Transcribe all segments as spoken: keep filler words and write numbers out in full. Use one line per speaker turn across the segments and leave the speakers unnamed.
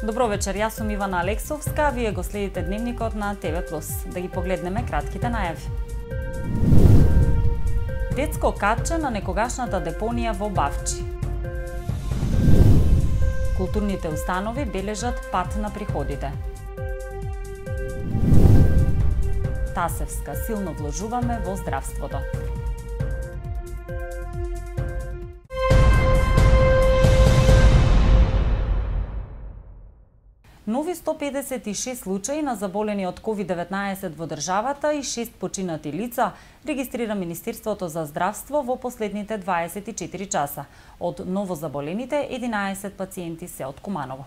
Добро вечер, јас сум Ивана Алексовска, вие го следите дневникот на Те Ве Плюс. Да ги погледнеме кратките најави. Детско катче на некогашната депонија во Бавчи. Културните установи бележат пат на приходите. Тасевска, силно вложуваме во здравството. Нови сто педесет и шест случаи на заболени од ковид деветнаесет во државата и шест починати лица регистрира Министерството за здравство во последните дваесет и четири часа. Од новозаболените, единаесет пациенти се од Куманово.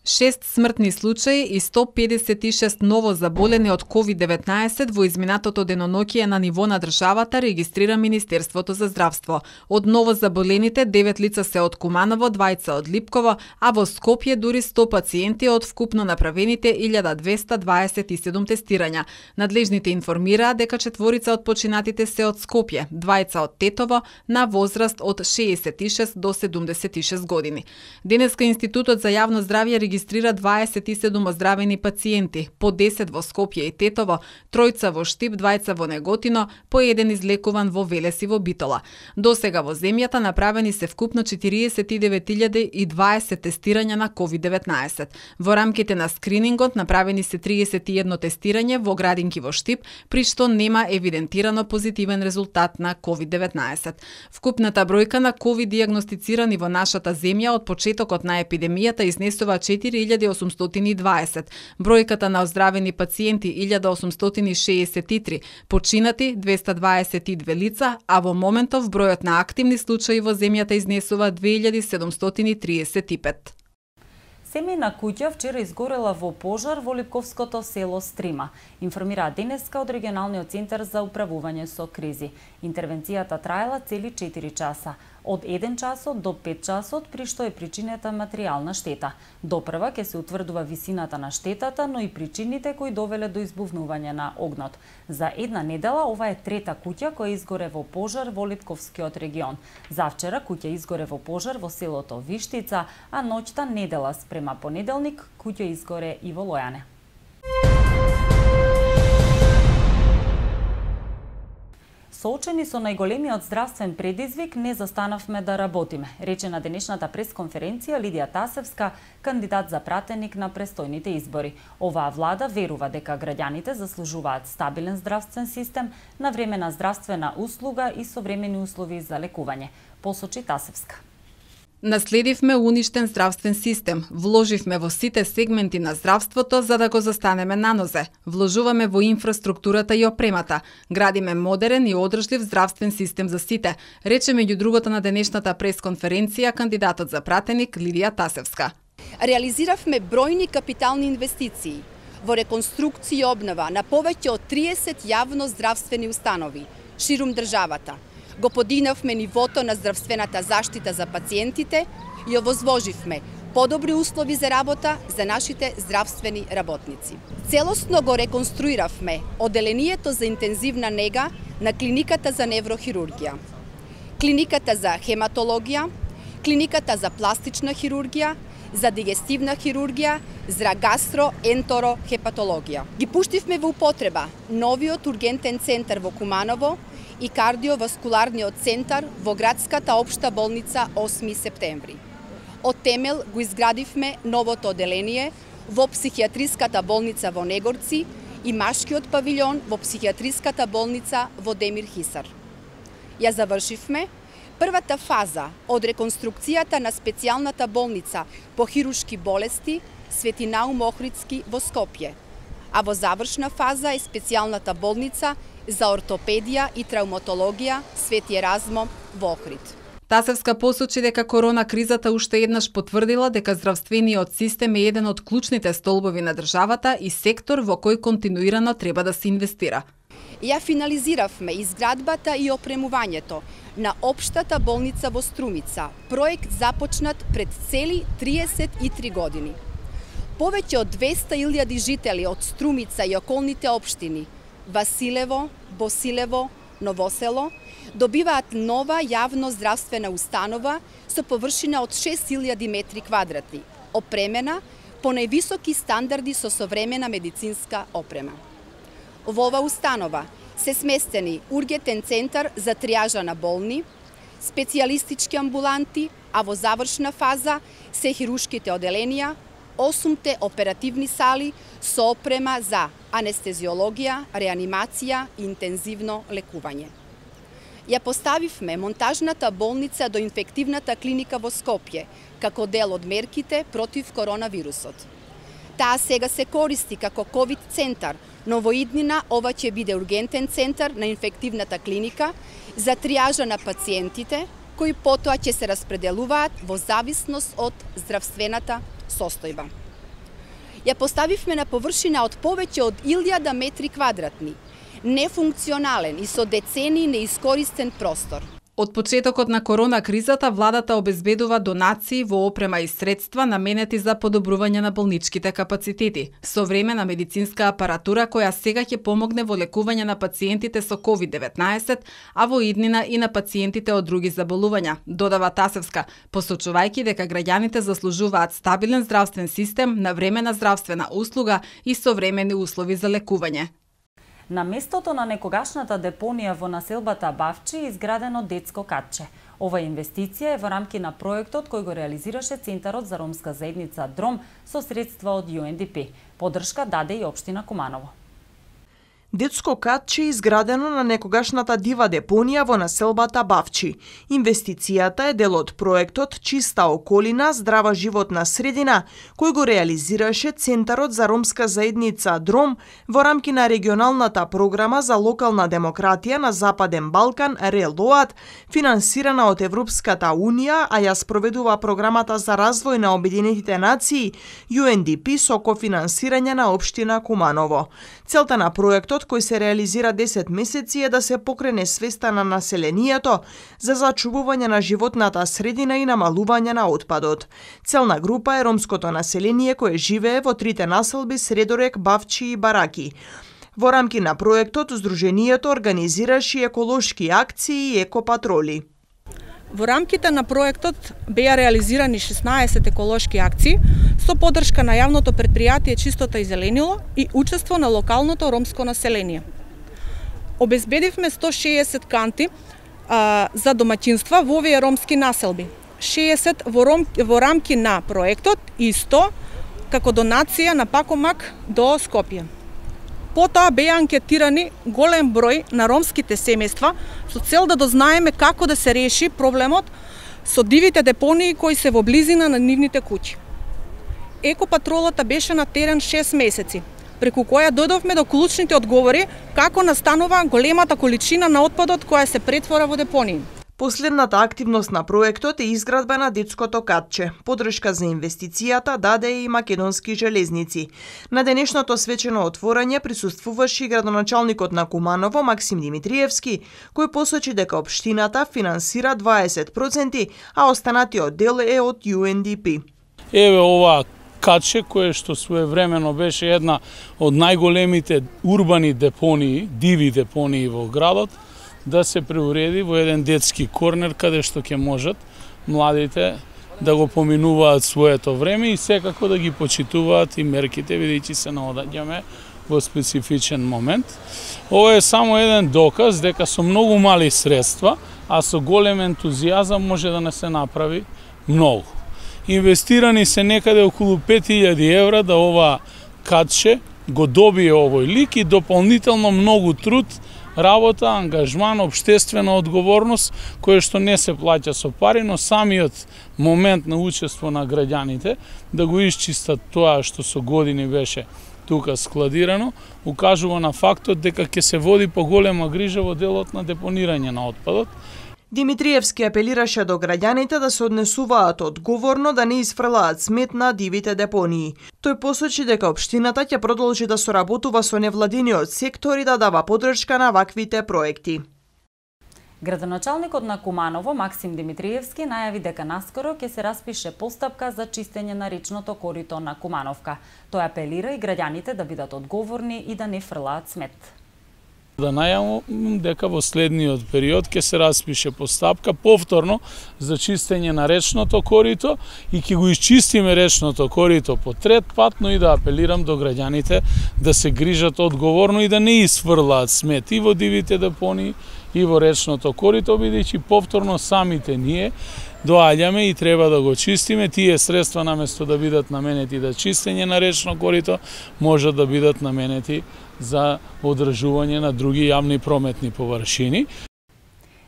шест смртни случаи и сто педесет и шест ново заболени од ковид деветнаесет во изминатото деноноќие на ниво на државата регистрира Министерството за здравство. Од ново заболените, девет лица се од Куманово, двајца од Липково, а во Скопје дури сто пациенти од вкупно направените илјада двесте дваесет и седум тестирања. Надлежните информираа дека четворица од починатите се од Скопје, двајца од Тетово, на возраст од шеесет и шест до седумдесет и шест години. Денеска Институтот за јавно здравје регистрира дваесет и седум оздравени пациенти, по десет во Скопје и Тетово, тројца во Штип, двајца во Неготино, по еден излекуван во Велес и во Битола. До сега во земјата направени се вкупно четириесет и девет илјади и дваесет тестирања на ковид деветнаесет. Во рамките на скринингот направени се триесет и едно тестирање во градинки во Штип, при што нема евидентирано позитивен резултат на ковид деветнаесет. Вкупната бројка на ковид дијагностицирани во нашата земја од почетокот на епидемијата изнесува четири илјади осумстотини и дваесет, бројката на оздравени пациенти илјада осумстотини шеесет и три, починати двесте дваесет и две лица, а во моментов бројот на активни случаи во земјата изнесува две илјади седумстотини триесет и пет.
Семејна куќа вчера изгорела во пожар во Липковското село Стрима, информираа денеска од регионалниот центар за управување со кризи. Интервенцијата траела цели четири часа, од еден часот до пет часот, при што е причинета материјална штета. Допрва ќе се утврдува висината на штетата, но и причините кои довеле до избувнување на огнот. За една недела ова е трета куќа која изгоре во пожар во Липковскиот регион. Завчера куќа изгоре во пожар во селото Виштица, а ноќта недела спрема понеделник куќа изгоре и во Лојане. Соочени со најголемиот здравствен предизвик, не застанавме да работиме, рече на денешната пресконференција Лидија Тасевска, кандидат за пратеник на престојните избори. Оваа влада верува дека граѓаните заслужуваат стабилен здравствен систем, навремена здравствена услуга и современи услови за лекување, посочи Тасевска.
Наследивме уништен здравствен систем, вложивме во сите сегменти на здравството за да го застанеме на нозе. Вложуваме во инфраструктурата и опремата, градиме модерен и одржлив здравствен систем за сите, рече меѓу другото на денешната пресконференција кандидатот за пратеник Лидија Тасевска.
Реализиравме бројни капитални инвестиции во реконструкција и обнова на повеќе од триесет јавно здравствени установи ширум државата. Го подигнавме нивото на здравствената заштита за пациентите и овозвоживме подобри услови за работа за нашите здравствени работници. Целосно го реконструиравме оделението за интензивна нега на клиниката за неврохирургија, клиниката за хематологија, клиниката за пластична хирургија, за дигестивна хирургија, за гастроентерохепатологија. Ги пуштивме во употреба новиот ургентен центар во Куманово и кардиоваскуларниот центар во градската општа болница осми септември. Од темел го изградивме новото оделение во психијатриската болница во Негорци и машкиот павилјон во психијатриската болница во Демир Хисар. Ја завршивме првата фаза од реконструкцијата на специјалната болница по хируршки болести Свети Наум Охридски во Скопје, а во завршна фаза е специјалната болница за ортопедија и травматологија Свети Еразмо во Охрид.
Тасевска посочи дека корона кризата уште еднаш потврдила дека здравствениот систем е еден од клучните столбови на државата и сектор во кој континуирано треба да се инвестира.
Ја финализиравме изградбата и опремувањето на општата болница во Струмица, проект започнат пред цели триесет и три години. Повеќе од двесте илјади жители од Струмица и околните општини Василево, Босилево, Новосело добиваат нова јавно здравствена установа со површина од шест илјади метри квадратни, опремена по највисоки стандарди со современа медицинска опрема. Во ова установа се сместени ургентен центар за тријажа на болни, специјалистички амбуланти, а во завршна фаза се хирушките оделенија, осумте оперативни сали со опрема за анестезиологија, реанимација и интензивно лекување. Ја поставивме монтажната болница до инфективната клиника во Скопје, како дел од мерките против коронавирусот. Таа сега се користи како ковид центар, но во иднина ова ќе биде ургентен центар на инфективната клиника за тријажа на пациентите, кои потоа ќе се распределуваат во зависност од здравствената состојба. Ја поставивме на површина од повеќе од илјада метри квадратни, нефункционален и со децени неискористен простор.
Од почетокот на корона кризата, владата обезбедува донации во опрема и средства наменети за подобрување на болничките капацитети, современа медицинска апаратура која сега ќе помогне во лекување на пациентите со ковид деветнаесет, а во иднина и на пациентите од други заболувања, додава Тасевска, посочувајќи дека граѓаните заслужуваат стабилен здравствен систем, навремена здравствена услуга и современи услови за лекување.
На местото на некогашната депонија во населбата Бавчи е изградено детско катче. Ова инвестиција е во рамки на проектот кој го реализираше Центарот за ромска заедница Дром со средства од Ю Ен Ди Пи. Поддршка даде и општина Куманово.
Детско катче е изградено на некогашната дива депонија во населбата Бавчи. Инвестицијата е дел од проектот Чиста околина, здрава животна средина, кој го реализираше Центарот за ромска заедница Дром во рамки на регионалната програма за локална демократија на Западен Балкан РЕЛОАД, финансирана од Европската Унија, а ја спроведува програмата за развој на Обединетите нации Ю Ен Ди Пи со кофинансирање на општина Куманово. Целта на проектот кој се реализира десет месеци е да се покрене свеста на населението за зачувување на животната средина и намалување на отпадот. Целна група е ромското население кое живее во трите населби Средорек, Бавчи и Бараки. Во рамки на проектот, Сдруженијето организираше еколошки акции и екопатроли.
Во рамките на проектот беа реализирани шеснаесет еколошки акции со поддршка на јавното претпријатие Чистота и зеленило и учество на локалното ромско население. Обезбедивме сто шеесет канти а, за домаќинства во овие ромски населби, шеесет во, ром, во рамки на проектот и сто како донација на Пакомак до Скопје. Потоа беа анкетирани голем број на ромските семејства со цел да дознаеме како да се реши проблемот со дивите депонии кои се во близина на нивните куќи. Екопатролата беше на терен шест месеци, преку која дојдовме до клучните одговори како настанува големата количина на отпадот која се претвора во депонии.
Последната активност на проектот е изградба на детското катче. Поддршка за инвестицијата даде и Македонски железници. На денешното свечено отворање присуствуваше и градоначалникот на Куманово Максим Димитриевски, кој посочи дека општината финансира дваесет проценти, а останатиот дел е од Ю Ен Ди Пи.
Еве ова катче кое што своевремено беше една од најголемите урбани депонии, диви депонии во градот, да се преуреди во еден детски корнер каде што ќе можат младите да го поминуваат своето време и секако да ги почитуваат и мерките, бидејќи се наоѓаме во специфичен момент. Ова е само еден доказ дека со многу мали средства, а со голем ентузијазам може да не се направи многу. Инвестирани се некаде околу пет илјади евра да ова катче го добие овој лик и дополнително многу труд, работа, ангажман, обштествена одговорност, која што не се плаќа со пари, но самиот момент на учество на граѓаните да го исчистат тоа што со години беше тука складирано, укажува на фактот дека ќе се води поголема грижа во делот на депонирање на отпадот.
Димитриевски апелираше до граѓаните да се однесуваат одговорно да не изфрлаат смет на дивите депонии. Тој посочи дека општината ќе продолжи да соработува со невладиниот сектор и да дава поддршка на ваквите проекти.
Градоначалникот на Куманово Максим Димитриевски најави дека наскоро ќе се распише постапка за чистење на речното корито на Кумановка. Тој апелира и граѓаните да бидат одговорни и да не фрлаат смет.
Да најавам дека во следниот период ќе се распише постапка повторно за чистење на речното корито и ќе го исчистиме речното корито по трет пат, но и да апелирам до граѓаните да се грижат одговорно и да не isfрлаат смет и во дивите депонии и во речното корито, бидејќи повторно самите ние доаѓаме и треба да го чистиме. Тие средства наместо да бидат наменети за чистење на речно корито, можат да бидат наменети за одржување на други јавни прометни површини.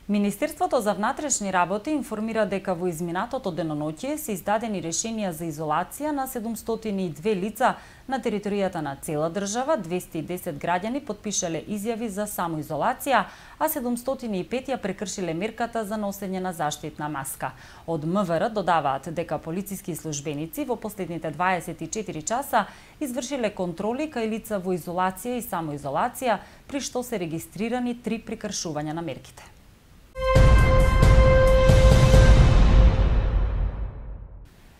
Министерството за внатрешни работи информира дека во изминатото деноноќие се издадени решенија за изолација на седумстотини и две лица на територијата на цела држава, двесте и десет граѓани потпишале изјави за самоизолација, а седумстотини и пет ја прекршиле мерката за носење на заштитна маска. Од МВР додаваат дека полициски службеници во последните дваесет и четири часа извршиле контроли кај лица во изолација и самоизолација, при што се регистрирани три прекршувања на мерките.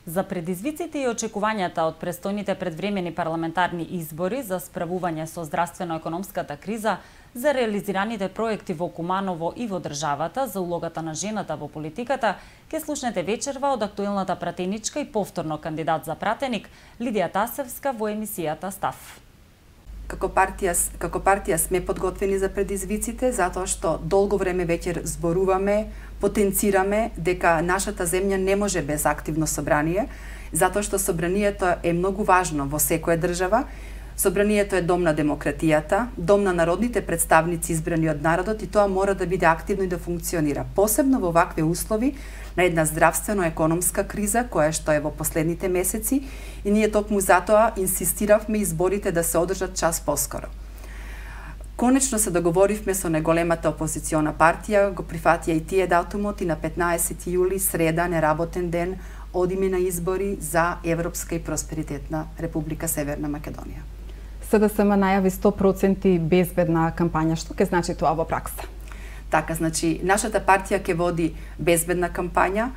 За предизвиците и очекувањата од престојните предвремени парламентарни избори за справување со здравствено-економската криза, за реализираните проекти во Куманово и во државата, за улогата на жената во политиката, ќе слушнете вечерва од актуелната пратеничка и повторно кандидат за пратеник Лидија Тасевска во емисијата Став.
Како партија, како партија сме подготвени за предизвиците, затоа што долго време веќе зборуваме, потенцираме дека нашата земја не може без активно собрание, затоа што собранието е многу важно во секоја држава. Собранието е дом на демократијата, дом на народните представници избрани од народот и тоа мора да биде активно и да функционира. Посебно во вакви услови на една здравствено-економска криза која што е во последните месеци и ние токму затоа инсистиравме изборите да се одржат час поскоро. Конечно се договоривме со најголемата опозициона партија, го прифатија и тие датумот и на петнаесети јули, среда, неработен ден, одиме на избори за Европска и просперитетна Република Северна Македонија.
СДСМ најави сто проценти безбедна кампања. Што ќе значи тоа во пракса?
Така, значи, нашата партија ќе води безбедна кампања,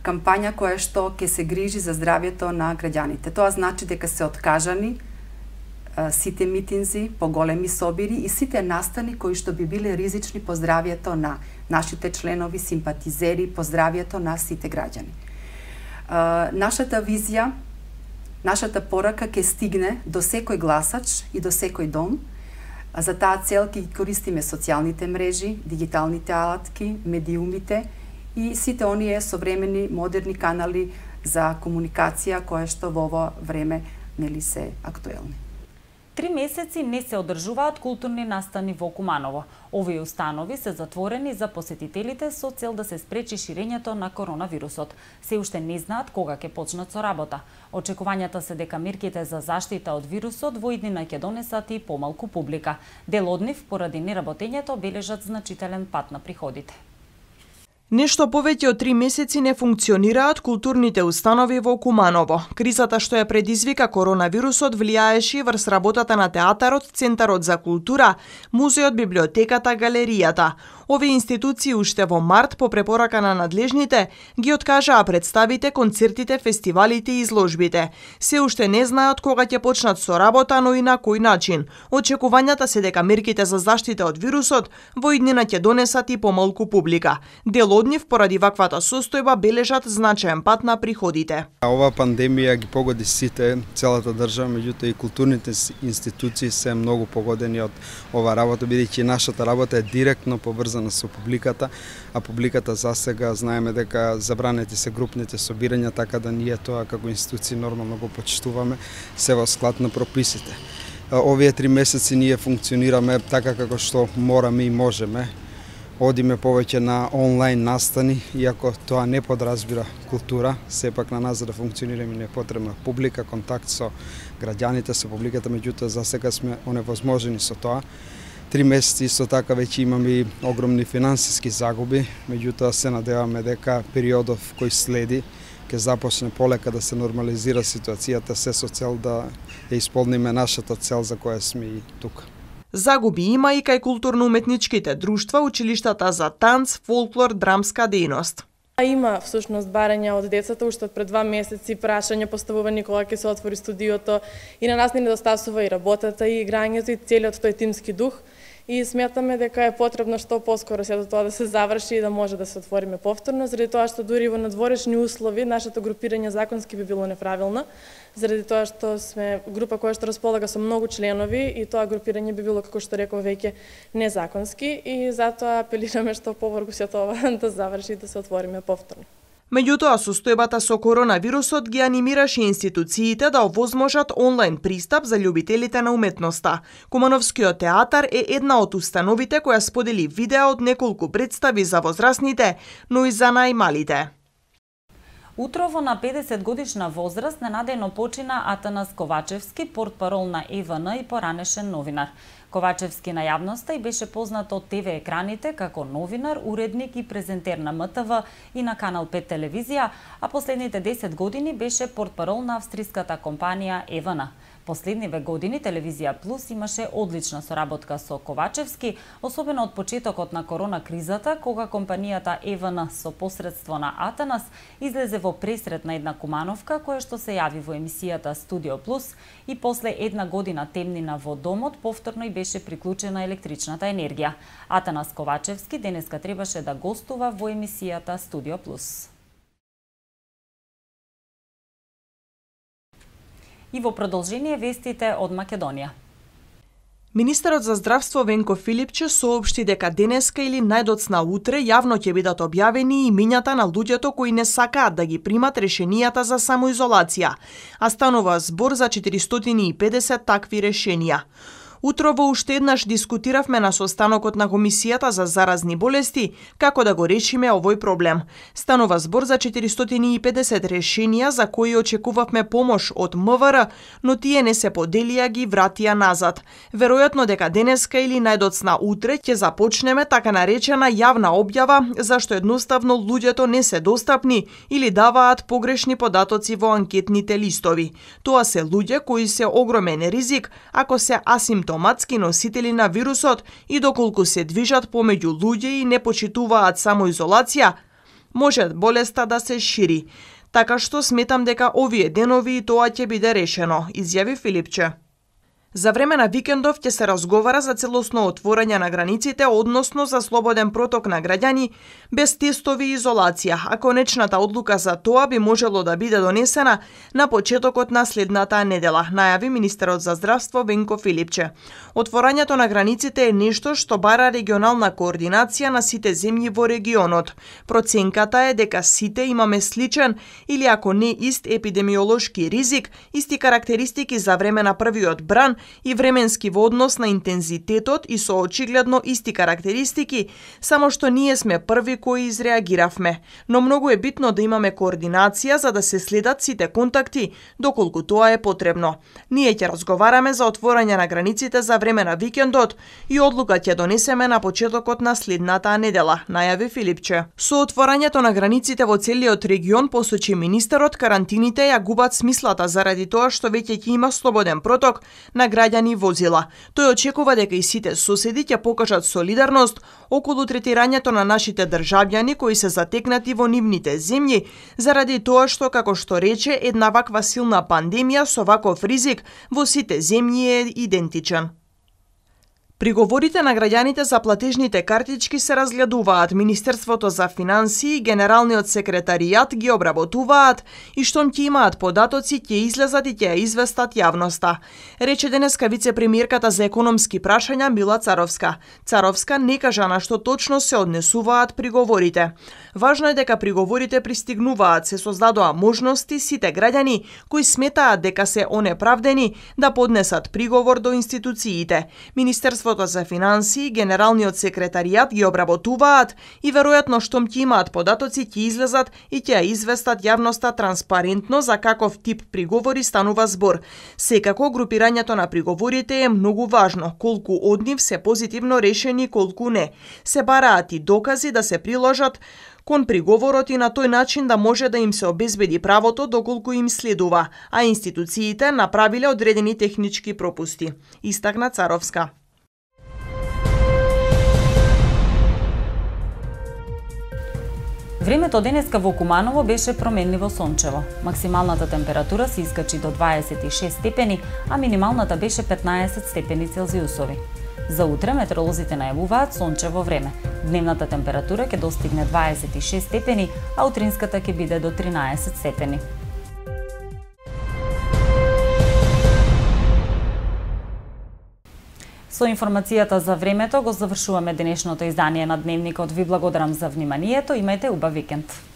кампања која што ќе се грижи за здравјето на граѓаните. Тоа значи дека се откажани сите митинзи, поголеми собири и сите настани кои што би биле ризични по здравјето на нашите членови, симпатизери, по здравјето на сите граѓани. Нашата визија, нашата порака ќе стигне до секој гласач и до секој дом. За таа цел ќе користиме социјалните мрежи, дигиталните алатки, медиумите и сите оние современи модерни канали за комуникација кои што во ова време нели се актуелни.
Три месеци не се одржуваат културни настани во Куманово. Овие установи се затворени за посетителите со цел да се спречи ширењето на коронавирусот. Се уште не знаат кога ќе почнат со работа. Очекувањата се дека мерките за заштита од вирусот во иднина ќе донесат и помалку публика. Дел од нив, поради неработењето, бележат значителен пат на приходите.
Нешто повеќе од три месеци не функционираат културните установи во Куманово. Кризата што ја предизвика коронавирусот влијаеше врз работата на театарот, Центарот за култура, музеот, библиотеката, галеријата. Овие институции уште во март по препорака на надлежните ги откажаа представите, концертите, фестивалите и изложбите. Се уште не знаат кога ќе почнат со работа, но и на кој начин. Очекувањата се дека мерките за заштита од вирусот во иднина ќе донесат и помалку публика. Дел од нив поради ваквата состојба бележат значаен пат на приходите.
Ова пандемија ги погоди сите, целата држава, меѓутоа и културните институции се многу погодени од ова работа, бидејќи нашата работа е директно поврзана со публиката, а публиката засега знаеме дека забранети се групните собирања, така да ние тоа како институции нормално го почитуваме, се во склад на прописите. Овие три месеци ние функционираме така како што мораме и можеме. Одиме повеќе на онлайн настани, иако тоа не подразбира култура, сепак на нас за да функционираме не е потребна публика, контакт со граѓаните, со публиката, меѓутоа за сега сме оневозможени со тоа. Три месеци исто така веќе имаме и огромни финансиски загуби, меѓутоа се надеваме дека периодов кој следи ќе започне полека да се нормализира ситуацијата, се со цел да ја исполниме нашата цел за која сме и тука.
Загуби има и кај културно-уметничките друштва, училиштата за танц, фолклор, драмска дејност.
Има всушност барања од децата уште пред два месеци, прашања поставувани кога ќе се отвори студиото и на нас не недостасува и работата и играњето и целиот тој тимски дух. и сметаме дека е потребно што поскоро сето тоа да се заврши и да може да се отвориме повторно, заради тоа што дури во надворешни услови нашето групирање законски би било неправилно, заради тоа што сме група која што располага со многу членови и тоа групирање би било, како што реков, веќе незаконски и затоа апелираме што поврзо сето ова да заврши и да се отвориме повторно.
Меѓутоа, состојбата со коронавирусот ги анимираше институциите да овозможат онлайн пристап за љубителите на уметноста. Кумановскиот театар е една од установите која сподели видео од неколку представи за возрастните, но и за најмалите.
Утрово на педесет годишна возраст ненадејно почина Атанас Ковачевски, портпарол на Е В Н и поранешен новинар. Ковачевски на јавноста и беше познат од Те В екраните како новинар, уредник и презентер на М Т В и на Канал пет телевизија, а последните десет години беше портпарол на австриската компанија Е В Н. Последниве години Телевизија Плюс имаше одлична соработка со Ковачевски, особено од почетокот на корона кризата, кога компанијата Е В Н со посредство на Атанас излезе во пресрет на една Кумановка која што се јави во емисијата Студио Плюс и после една година темнина во домот повторно и беше приклучена електричната енергија. Атанас Ковачевски денеска требаше да гостува во емисијата Студио Плюс. И во продолжение вестите од Македонија.
Министерот за здравство Венко Филипче соопшти дека денеска или најдоцна утре јавно ќе бидат објавени имињата на луѓето кои не сакаат да ги примат решенијата за самоизолација, а станува збор за четиристотини и педесет такви решенија. Утрово уште еднаш дискутиравме на состанокот на Комисијата за заразни болести како да го решиме овој проблем. Станува збор за четиристотини и педесет решенија за кои очекувавме помош од М В Р, но тие не се поделија, ги вратија назад. Веројатно дека денеска или најдоцна утре ќе започнеме така наречена јавна објава, зашто едноставно луѓето не се достапни или даваат погрешни податоци во анкетните листови. Тоа се луѓе кои се огромен ризик ако се асимптоматски носители на вирусот и доколку се движат помеѓу луѓе и не почитуваат самоизолација, може болеста да се шири. Така што сметам дека овие денови и тоа ќе биде решено, изјави Филипче. За време на викендов ќе се разговара за целосно отворање на границите, односно за слободен проток на граѓани без тестови и изолација, а конечната одлука за тоа би можело да биде донесена на почетокот на следната недела, најави министерот за здравство Венко Филипче. Отворањето на границите е нешто што бара регионална координација на сите земји во регионот. Проценката е дека сите имаме сличен или ако не ист епидемиолошки ризик, исти карактеристики за време на првиот бран и временски во однос на интензитетот и со очигледно исти карактеристики, само што ние сме први кои изреагиравме. Но многу е битно да имаме координација за да се следат сите контакти, доколку тоа е потребно. Ние ќе разговараме за отворање на границите за време на викендот и одлука ќе донесеме на почетокот на следната недела, најави Филипче. Со отворањето на границите во целиот регион, посочи министерот, карантините ја губат смислата заради тоа што веќе ќе има слободен проток на граѓани и возила. Тој очекува дека и сите соседи ќе покажат солидарност околу третирањето на нашите државјани кои се затекнати во нивните земји, заради тоа што, како што рече, една ваква силна пандемија со ваков ризик во сите земји е идентичен. Приговорите на граѓаните за платежните картички се разгледуваат. Министерството за финансии и Генералниот секретаријат ги обработуваат и штом ќе имаат податоци, ќе излезат и ќе ја известат јавноста, рече денеска вице-премиерката за економски прашања Мила Царовска. Царовска не кажа на што точно се однесуваат приговорите. Важно е дека приговорите пристигнуваат, се создадоа можности сите граѓани кои сметаат дека се онеправдени да поднесат приговор до институциите. Министерството за финансии и Генералниот секретаријат ги обработуваат и веројатно штом ќе имаат податоци ќе излезат и ќе ја известат јавноста транспарентно за каков тип приговори станува збор. Секако групирањето на приговорите е многу важно, колку од нив се позитивно решени, колку не. Се бараат и докази да се приложат кон приговорот и на тој начин да може да им се обезбеди правото доколку им следува, а институциите направиле одредени технички пропусти, истакна Царовска.
Времето денеска во Куманово беше променливо сончево. Максималната температура се искачи до дваесет и шест степени, а минималната беше петнаесет степени Целзиусови. За утре метеоролозите најавуваат сончево време. Дневната температура ќе достигне дваесет и шест степени, а утринската ќе биде до тринаесет степени. Со информацијата за времето го завршуваме денешното издание на Дневникот. Ви благодарам за вниманието, имајте убав викенд.